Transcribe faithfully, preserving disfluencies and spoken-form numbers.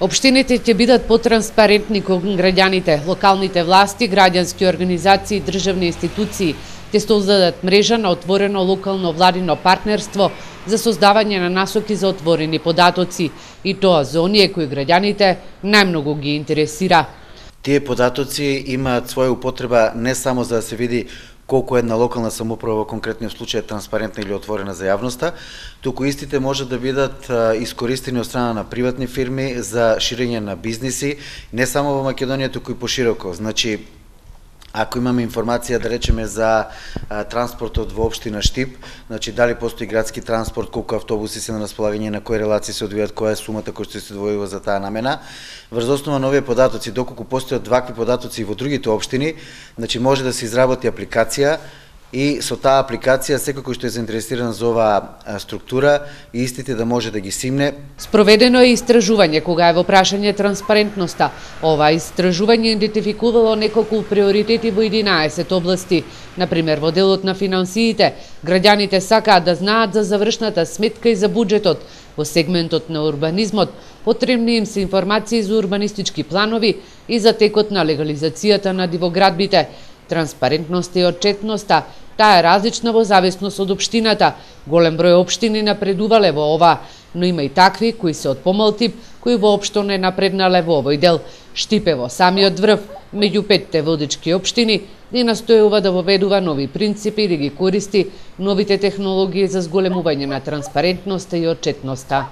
Општините ќе бидат потранспарентни кон граѓаните, локалните власти, граѓански организации и државни институции ќе создадат мрежа на отворено локално владино партнерство за создавање на насоки за отворени податоци, и тоа за оние кои граѓаните најмногу ги интересира. Тие податоци имаат своја употреба не само за да се види колку една локална самоуправа во конкретниот случај е транспарентна или отворена за јавноста, туку истите може да бидат искористени од страна на приватни фирми за ширење на бизниси, не само во Македонија, туку и пошироко. Значи, ако имаме информација, да речеме, за а, транспортот во општина Штип, значи дали постои градски транспорт, колку автобуси се на располагање, на кои релации се одвијат, која е сумата која што се одвојува за таа намена, врз основа на овие податоци, доколку постојат вакви податоци во другите општини, значи може да се изработи апликација и со таа апликација секој кој што е заинтересиран за оваа структура и истите да може да ги симне. Спроведено е истражување кога е во прашање транспарентноста. Ова истражување идентификувало неколку приоритети во единаесет области. Например, во делот на финансиите, граѓаните сакаат да знаат за завршната сметка и за буџетот. Во сегментот на урбанизмот, потребни им се информации за урбанистички планови и за текот на легализацијата на дивоградбите. Транспарентноста и отчетноста, таа е различна во зависност од општината. Голем број општини напредувале во ова, но има и такви кои се од помал тип, кои воопшто не напреднале во овој дел. Штип е во самиот врв, меѓу петте водички општини, и настојува да воведува нови принципи и да ги користи новите технологии за зголемување на транспарентноста и отчетноста.